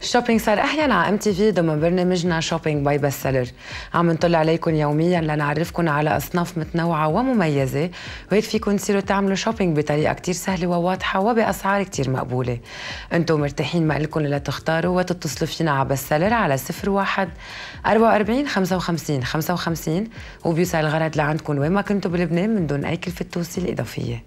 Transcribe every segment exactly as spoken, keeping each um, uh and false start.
الشوبينج صار أحيانا على ام تي في ضمن برنامجنا شوبينج باي بست سيلر. عم نطلع عليكم يوميا لنعرفكم على أصناف متنوعة ومميزة، وهيك فيكم تصيروا تعملوا شوبينج بطريقة كتير سهلة وواضحة وبأسعار كتير مقبولة. انتم مرتاحين ما إلكم إلا تختاروا وتتصلوا فينا على بست سيلر على صفر واحد أربعة وأربعين خمسة وخمسين خمسة وخمسين، وبيوصل الغرض لعندكم وين ما كنتوا بلبنان من دون أي كلفة توصيل إضافية.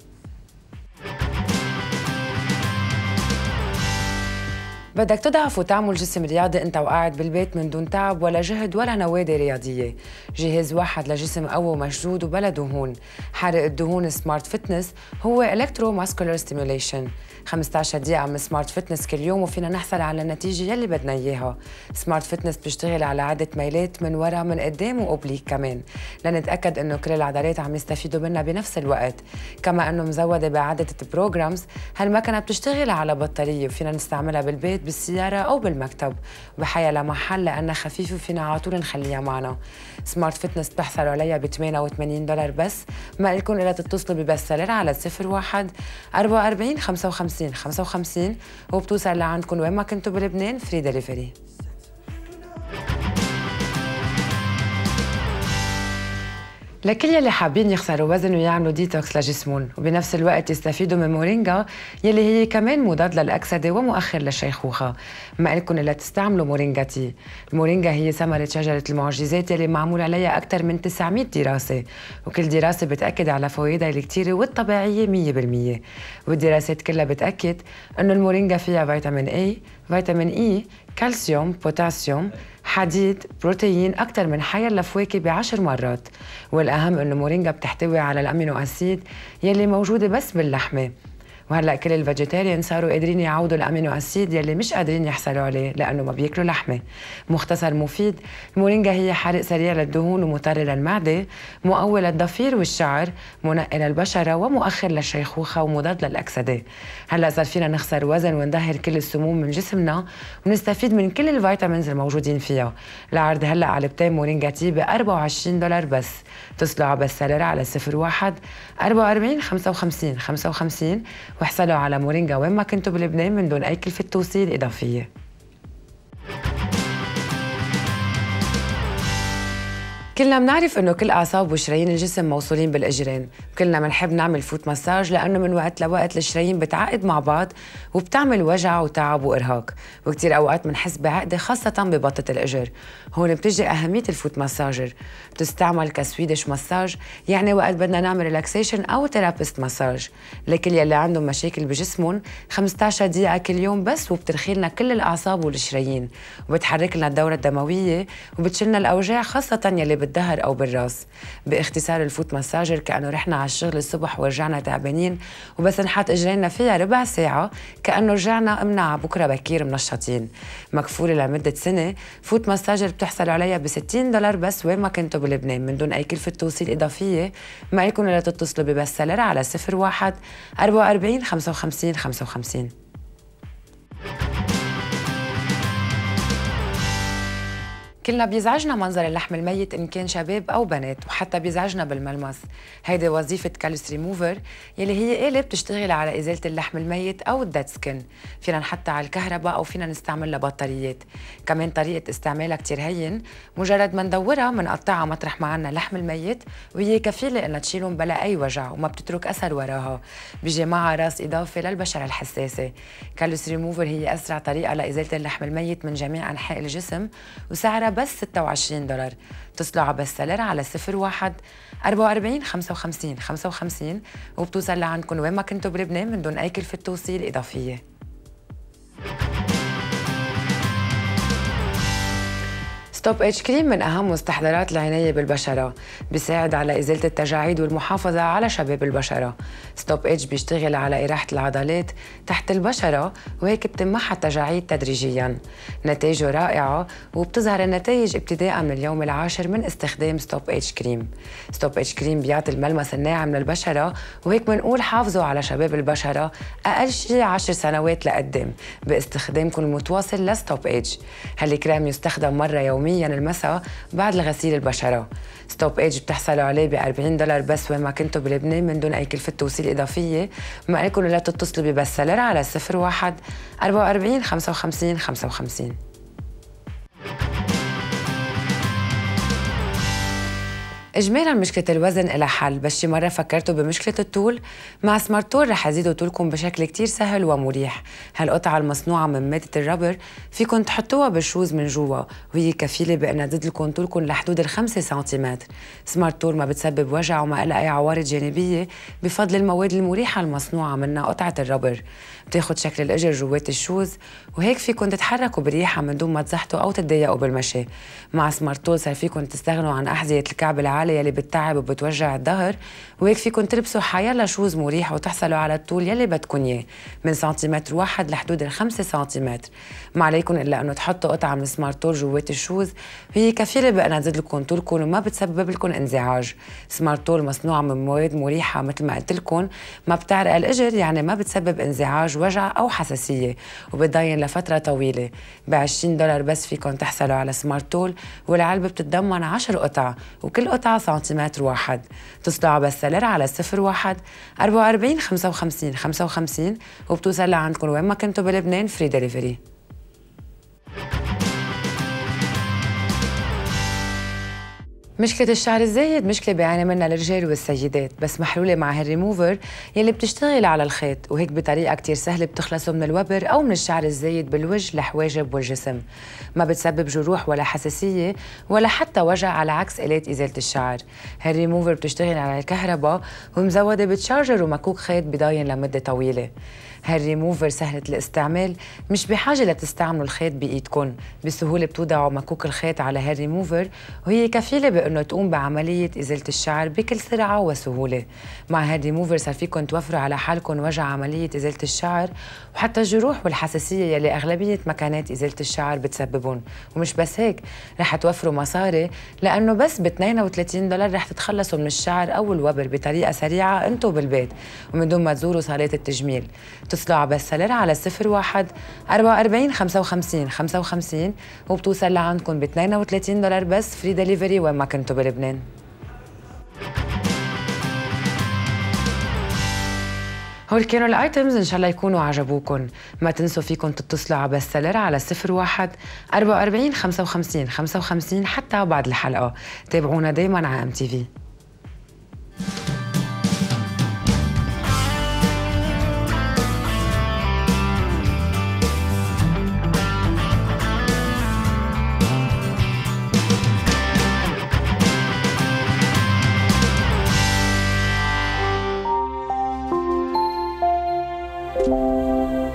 بدك تضعف وتعمل جسم رياضي انت وقاعد بالبيت من دون تعب ولا جهد ولا نوادي رياضيه. جهاز واحد لجسم قوي ومشدود وبلا دهون. حرق الدهون سمارت فتنس هو الكترو ماسكولار ستيموليشن. خمسة عشر دقيقة من سمارت فتنس كل يوم وفينا نحصل على النتيجة يلي بدنا اياها. سمارت فتنس بتشتغل على عدة ميلات من ورا من قدام وأوبليك كمان، لنتأكد انه كل العضلات عم يستفيدوا منها بنفس الوقت، كما انه مزودة بعدة بروجرامز. هالمكنة بتشتغل على بطارية وفينا نستعملها بالبيت بالسيارة أو بالمكتب وبحيا لمحل لأنها خفيفة وفينا على طول نخليها معنا. سمارت فتنس بتحصلوا عليها ب ثمانية وثمانين دولار بس. ما لكم إلا تتصلوا ببست سيلر على صفر واحد أربعة وأربعين خمسة وخمسين خمسة وخمسين وبتوصل لعندكم وين ما كنتوا بلبنان فري دليفري. لكل يلي حابين يخسروا وزن ويعملوا ديتوكس لجسمهم وبنفس الوقت يستفيدوا من مورينجا يلي هي كمان مضاد للأكسدة ومؤخر للشيخوخة، ما إلكم إلا تستعملوا مورينجا تي. المورينجا هي ثمرة شجرة المعجزات يلي معمول عليها أكثر من تسعمية دراسة، وكل دراسة بتأكد على فوائدها الكتيرة والطبيعية مية بالمية. والدراسات كلها بتأكد إنه المورينجا فيها فيتامين A، فيتامين إي، كالسيوم، بوتاسيوم، حديد، بروتين أكثر من حياة الفواكه بعشر مرات. والأهم إنه مورينجا بتحتوي على الأمينو أسيد يلي موجودة بس باللحمة. وهلا كل الفيجيتيريان صاروا قادرين يعوضوا الامينو اسيد يلي مش قادرين يحصلوا عليه لانه ما بياكلوا لحمه. مختصر مفيد، المورينجا هي حرق سريع للدهون ومطر للمعده، مقوي للضفير والشعر، منقي للبشره ومؤخر للشيخوخه ومضاد للاكسده. هلا صار فينا نخسر وزن ونظهر كل السموم من جسمنا ونستفيد من كل الفيتامينز الموجودين فيها. العرض هلا علبتين مورينجا تي ب أربعة وعشرين دولار بس. اتصلوا على بست سيلر على صفر واحد أربعة وأربعين خمسة وخمسين خمسة وخمسين واحصلوا على مورينجا وين ما كنتوا بلبنان من دون أي كلفة توصيل إضافية. كلنا بنعرف انه كل اعصاب وشرايين الجسم موصولين بالاجرين، وكلنا بنحب نعمل فوت مساج لانه من وقت لوقت الشرايين بتعقد مع بعض وبتعمل وجع وتعب وارهاق، وكثير اوقات بنحس بعقده خاصه ببطه الاجر. هون بتجي اهميه الفوت مساجر، بتستعمل كسويدش مساج، يعني وقت بدنا نعمل ريلاكسيشن او ثيرابيست مساج لكل يلي عندهم مشاكل بجسمهم. خمسة عشر دقيقه كل يوم بس وبترخي لنا كل الاعصاب والشرايين وبتحرك لنا الدوره الدمويه وبتشلنا الاوجاع خاصه يلي بالظهر أو بالراس. باختصار الفوت مساجر كأنه رحنا على الشغل الصبح ورجعنا تعبانين وبس نحط إجرينا فيها ربع ساعة كأنه رجعنا قمنا على بكرة بكير منشطين. مكفولة لمدة سنة. فوت مساجر بتحصلوا عليها ب ستين دولار بس وين ما كنتوا بلبنان من دون أي كلفة توصيل إضافية. ما لكم إلا تتصلوا ببست سيلر على صفر واحد أربعة وأربعين خمسة وخمسين خمسة وخمسين. كلنا بيزعجنا منظر اللحم الميت إن كان شباب أو بنات، وحتى بيزعجنا بالملمس. هيدي وظيفة كالوس ريموفر يلي هي آلة بتشتغل على إزالة اللحم الميت أو الديد سكين. فينا نحطها على الكهرباء أو فينا نستعمل لها بطاريات. كمان طريقة استعمالها كتير هين، مجرد ما ندورها منقطعها مطرح ما عنا اللحم الميت وهي كفيلة إنها تشيلهم بلا أي وجع وما بتترك أثر وراها. بيجي معها راس إضافي للبشرة الحساسة. كالوس ريموفر هي أسرع طريقة لإزالة اللحم الميت من جميع أنحاء الجسم وسعرها بس ستة وعشرين دولار. اتصلوا على بست سيلر على صفر واحد أربعة وأربعين خمسة وخمسين خمسة وخمسين وبتوصل لعندكم وين ما كنتوا بلبنان من دون أي كلفة توصيل إضافية. ستوب اتش كريم من أهم مستحضرات العناية بالبشرة، بيساعد على إزالة التجاعيد والمحافظة على شباب البشرة. ستوب اتش بيشتغل على إراحة العضلات تحت البشرة وهيك بتمحى التجاعيد تدريجياً. نتائجه رائعة وبتظهر النتائج ابتداء من اليوم العاشر من استخدام ستوب اتش كريم. ستوب اتش كريم بيعطي الملمس الناعم للبشرة وهيك بنقول حافظوا على شباب البشرة أقل شيء عشر سنوات لقدام باستخدامكم المتواصل لستوب اتش. هالكريم يستخدم مرة يومياً يومياً المساء بعد الغسيل البشرة. ستوب ايج بتحصلوا عليه ب أربعين دولار بس وين ما كنتوا بلبنان من دون أي كلفة توصيل إضافية. بما لكم لا تتصلوا ببست سيلر على صفر واحد أربعة وأربعين خمسة وخمسين خمسة وخمسين. إجمالاً مشكلة الوزن إلها حل، بس شي مرة فكرتوا بمشكلة الطول؟ مع سمارت تول رح يزيدوا طولكم بشكل كتير سهل ومريح. هالقطعة المصنوعة من مادة الربر فيكن تحطوها بالشوز من جوا، وهي كفيلة بأنها تزيد لكم طولكم لحدود الخمسة سنتيمتر. سمارت تول ما بتسبب وجع وما لها أي عوارض جانبية بفضل المواد المريحة المصنوعة منها قطعة الربر. بتاخد شكل الإجر جوات الشوز، وهيك فيكن تتحركوا بريحة من دون ما تزحتوا أو تتضايقوا بالمشي. مع سمارت تول صار فيكن تستغنوا عن أحذية الكعب العالي يلي بتتعب وبتوجع الظهر، وهيك فيكن تلبسوا حيالله شوز مريح وتحصلوا على الطول يلي بدكن اياه من سنتيمتر واحد لحدود الخمسة سنتيمتر. ما عليكم الا انه تحطوا قطعه من سمارت تول جوات الشوز، وهي كفيله بانها تزيد لكم طولكم وما بتسبب لكم انزعاج. سمارت تول مصنوعه من مواد مريحه مثل ما قلت لكم، ما بتعرق الاجر يعني ما بتسبب انزعاج وجع او حساسيه، وبتضاين لفتره طويله. ب عشرين دولار بس فيكم تحصلوا على سمارت تول، والعلبه بتتضمن عشر قطع وكل قطعه سنتيمتر واحد. تصلوا على بست سيلر على صفر واحد أربعة وأربعين خمسة وخمسين خمسة وخمسين وبتوصل لعندكم وين ما كنتوا بلبنان فري ديليفري. مشكلة الشعر الزايد مشكلة بيعاني منها الرجال والسيدات، بس محلولة مع هالريموفر يلي بتشتغل على الخيط، وهيك بطريقة كتير سهلة بتخلصوا من الوبر أو من الشعر الزايد بالوجه، الحواجب والجسم. ما بتسبب جروح ولا حساسية ولا حتى وجع على عكس آلات إزالة الشعر. هالريموفر بتشتغل على الكهرباء ومزودة بتشارجر ومكوك خيط بضاين لمدة طويلة. هالريموفر سهلة الاستعمال، مش بحاجة لتستعملوا الخيط بإيدكن، بسهولة بتوضعوا مكوك الخيط على هالريموفر وهي كفيلة بأنه تقوم بعملية إزالة الشعر بكل سرعة وسهولة. مع هالريموفر صار فيكن توفروا على حالكم وجع عملية إزالة الشعر وحتى الجروح والحساسية يلي أغلبية مكانات إزالة الشعر بتسببون. ومش بس هيك، رح توفروا مصاري لأنه بس ب اثنين وثلاثين دولار رح تتخلصوا من الشعر أو الوبر بطريقة سريعة أنتو بالبيت ومن دون ما تزوروا صالات التجميل. اتصلوا على بست سيلر على صفر واحد أربعة وأربعين خمسة وخمسين خمسة وخمسين وبتوصل لعندكم ب اثنين وثلاثين دولار بس فري ديليفري وين ما كنتوا بلبنان. هول كانوا الايتمز، ان شاء الله يكونوا عجبوكم. ما تنسوا فيكم تتصلوا على بست سيلر على صفر واحد أربعة وأربعين خمسة وخمسين خمسة وخمسين حتى بعد الحلقه. تابعونا دايما على ام تي في. Thank you.